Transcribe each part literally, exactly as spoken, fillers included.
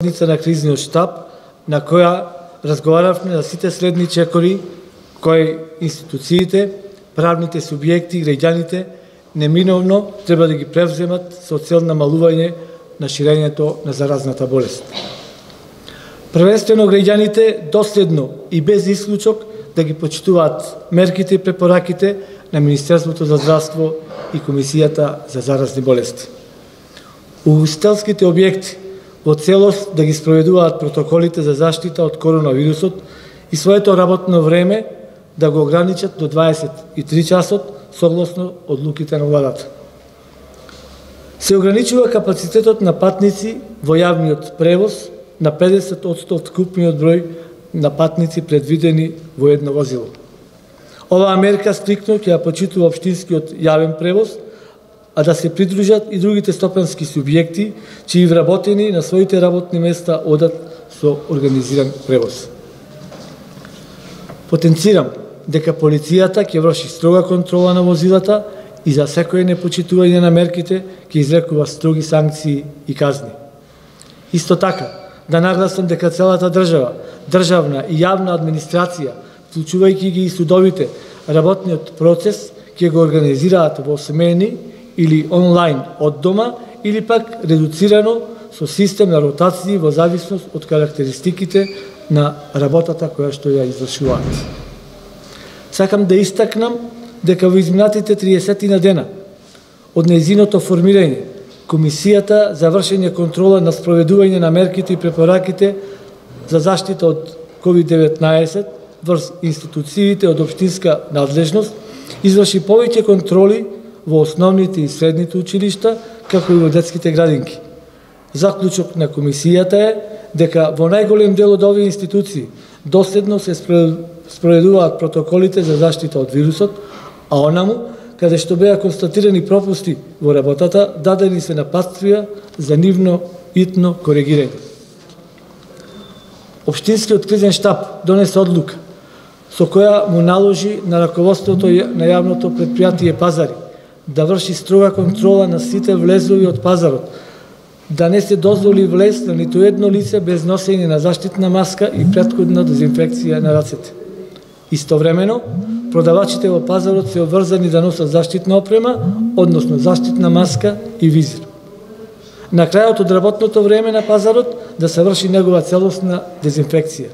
на кризниот штаб, на која разговаравме за сите следни чекори кои институциите, правните субјекти и граѓаните неминовно треба да ги превземат со цел намалување на ширењето на заразната болест. Првенствено граѓаните доследно и без исклучок да ги почитуваат мерките и препораките на Министерството за здравство и Комисијата за заразни болести. Угостителските објекти во целост да ги спроведуваат протоколите за заштита од коронавирусот и своето работно време да го ограничат до дваесет и три часот согласно одлуките на владата. Се ограничува капацитетот на патници во јавниот превоз на педесет одсто од вкупниот број на патници предвидени во едно возило. Оваа мерка стриктно ќе ја почитува општинскиот јавен превоз, а да се придружат и другите стопански субјекти, чии вработени на своите работни места одат со организиран превоз. Потенцирам дека полицијата ќе врши строга контрола на возилата и за секој непочитување на мерките ќе изрекува строги санкции и казни. Исто така, да нагласам дека целата држава, државна и јавна администрација, вклучувајќи ги и судовите, работниот процес ќе го организираат во смени или онлайн од дома, или пак редуцирано со систем на ротации во зависност од карактеристиките на работата која што ја извршуваат. Сакам да истакнам дека во изминатите триесет дена од нејзиното формирање, Комисијата за вршење контрола на спроведување на мерките и препораките за заштита од ковид деветнаесет врз институциите од општинска надлежност изврши повеќе контроли во основните и средните училишта, како и во детските градинки. Заклучок на Комисијата е дека во најголем дел од овие институции доследно се спроведуваат протоколите за заштита од вирусот, а онаму, каде што беа констатирани пропусти во работата, дадени се напатствија за нивно итно коригирање. Општинскиот кризен штаб донесе одлука со која му наложи на раководството на јавното претпријатие Пазари да врши строга контрола на сите влезови од пазарот, да не се дозволи влез на ниту едно лице без носење на заштитна маска и претходна дезинфекција на рацете. Истовремено, продавачите во пазарот се обврзани да носат заштитна опрема, односно заштитна маска и визир. На крајот од работното време на пазарот да се врши негова целосна дезинфекција.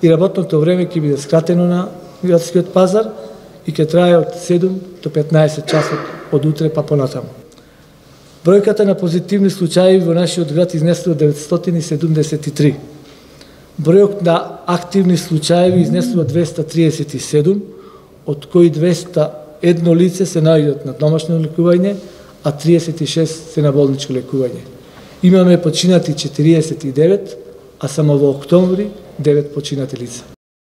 И работното време ќе биде скратено на градскиот пазар и ќе трае од седум до петнаесет часот од утре па понатаму. Бројката на позитивни случаи во нашиот град изнесува деветстотини и седумдесет и три. Бројот на активни случаи изнесува двеста триесет и седум, од кои двеста и едно лице се наоѓаат на домашно лекување, а триесет и шест се на болничко лекување. Имаме починати четириесет и девет, а само во октомври девет починати лица.